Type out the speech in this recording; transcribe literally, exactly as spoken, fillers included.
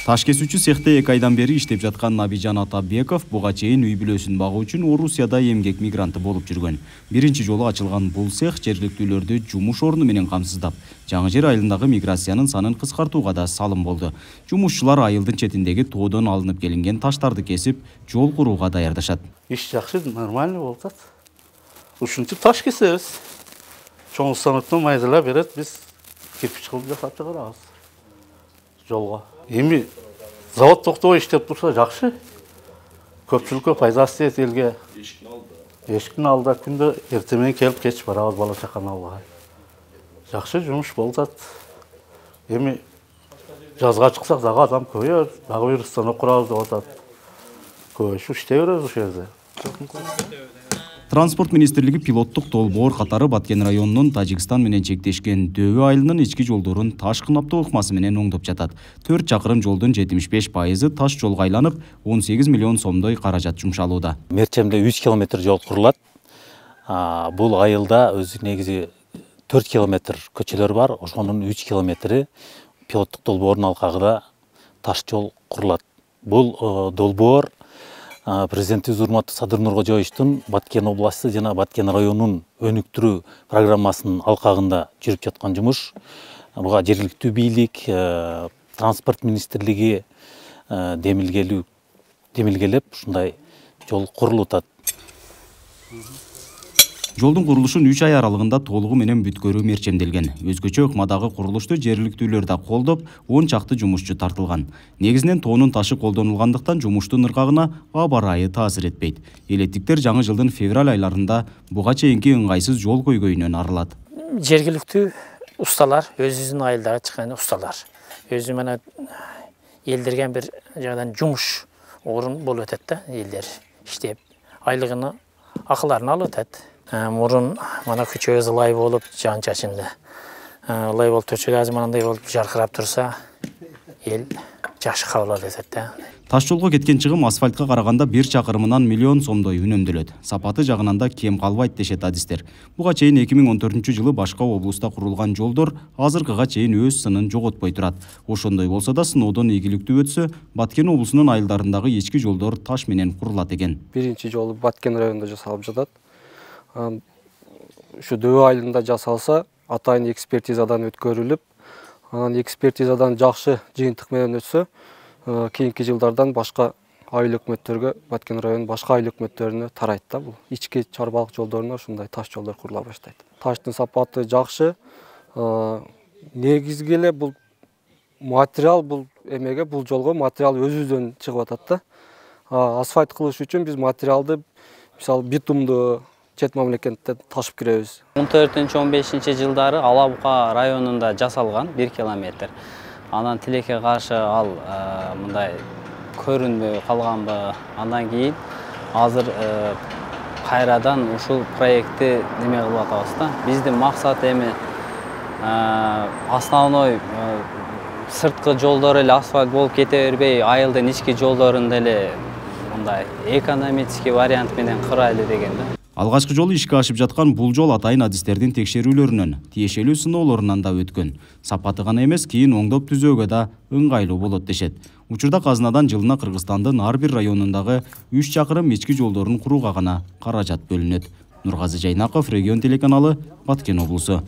Таш кесүүчү цехте эки айдан бери иштеп жаткан Набижан Атабеков буга чейин үй бүлөсүн багуу үчүн Орусияда эмгек мигранты болуп жүргөн. Биринчи жолу ачылган бул цех жергиликтүүлөрдү жумуш орну менен камсыздап, жаңы жер айылындагы миграциянын санын кыскартууга да салым болду. Жумушчулар айылдын четиндеги тоодон алынып келинген таштарды кесип, жол курууга даярдашат. Иш жакшы, нормально болуп атат. Ушинтип таш кесебиз. Чоң станоктон майдалап берет, биз кирпич кылып жасап чыгарабыз. Жолго. Эми завод токтобой иштеп турса жакшы. Көпчүлүккө пайдасы тиет элге. Эшиктин алдыда. Эшиктин алдыда күндө эртең менен келип кеч барабыз бала чаканы албай. Жакшы жумуш болуп атат. Эми жазга чыксак дагы адам көбөйөт, дагы бир станок курабыз деп атат. Көбөйүп иштей беребиз ошол жерде. Транспорт министрлиги пилоттук долбоор катары Баткен районунун Тажикстан менен чектешкен Дөбө айылынын ички жолдорун таш кынаптоо ыкмасы менен оңдоп жатат. төрт чакырым жолдун жетимиш беш пайызы таш жолго айланып, он сегиз миллион сомдой каражат жумшалууда. Мерчемде үч километр жол курулат. Бул айылда өзү негизи төрт километр көчөлөр бар, ошонун үч километри пилоттук долбоордун алкагында таш жол курулат. Бул долбоор Президентибиз урматтуу Садыр Нуркожоевичтин Баткен областы жана Баткен районунун өнүктүрүү программасынын алкагында жүрүп жаткан жумуш. Буга жергиликтүү бийлик, транспорт министрлиги демилгелүү демилгелеп ушундай жол курулуп атат. Жолдун курулушун үч ай аралыгында толугу менен бүткөрүү мерчемделген. Өзгөчө ыкмадагы курулушту жергиликтүүлөр да колдоп, он чакты жумушчу тартылган. Негизинен тоонун ташы колдонулгандыктан жумуштун ыргагына аба ырайы таасир этпейт. Элеттиктер жаңы жылдын февраль айларында буга чейинки ыңгайсыз жол көйгөйүнөн арылат. Жергиликтүү усталар, өзүнүн айылдагы чыккан усталар, өзү менен элдерген бир жагдан жумуш орун болуп атат да, элдер иштеп, айлыгына акыларын алып атат. Мурун мана күчөбүз ылай болуп, жан чачынды. Ылай болуп турчу, азыр мындай болуп жаркырап турса, эл жакшы кабыл алып атат да. Таш жолго кеткен чыгым асфальтка караганда бир чакырымынан миллион сомдой үнөмдөлөт. Сапаты жагынан да кем калбайт дешет адистер. Буга чейин эки миң он төртүнчү жылы башка облуста курулган жолдор азыркыга чейин өз сынын жоготпой турат. Ошондой болсо да сыноодон ийгиликтүү өтсө, Баткен облусунун айылдарындагы ички жолдор таш менен курулат экен. Биринчи жолу Баткен районунда жасалып жатат. Ушу Дөбө айылында жасалса, атайын экспертизадан өткөрүлүп, анан экспертизадан жакшы жыйынтык менен өтсө, кийинки жылдардан башка айыл өкмөттөргө, Баткен районунун башка айыл өкмөттөрүнө тарайт да бул. Ички чарбалык жолдоруна ушундай таш жолдор курула баштайт. Таштын сапаты жакшы. Негизги эле бул материал бул эмеге, бул жолго материал өзүбүздөн чыгып атат да. Асфальт кылыш үчүн биз материалды, мисалы, битумду чет мамлекеттен ташып киребиз. он төртүнчү он бешинчи жылдары Алабука районунда жасалган бир километр. Анан тилекке каршы ал мындай көрүнбөй калганбы. Андан кийин азыр кайрадан ушул проектти неме кылып атабыз да. Биздин максат эми основной сырткы жолдор эле асфальт болуп кете бербей, айылдын ички жолдорун деле мындай экономический вариант менен кырайлы деген да. Алгачкы жолу ишке ашып жаткан бул жол атайын адистердин текшерүүлөрүнөн, тиешелүү сыноолорунан да өткөн. Сапаты гана эмес, кийин оңдоп түзөөгө да ыңгайлуу болот дешет. Учурда казынадан жылына Кыргызстандын ар бир районундагы үч чакырым ички жолдорун курууга гана каражат бөлүнөт. Нургазы Жайнаков, Регион телеканалы, Баткен облусу.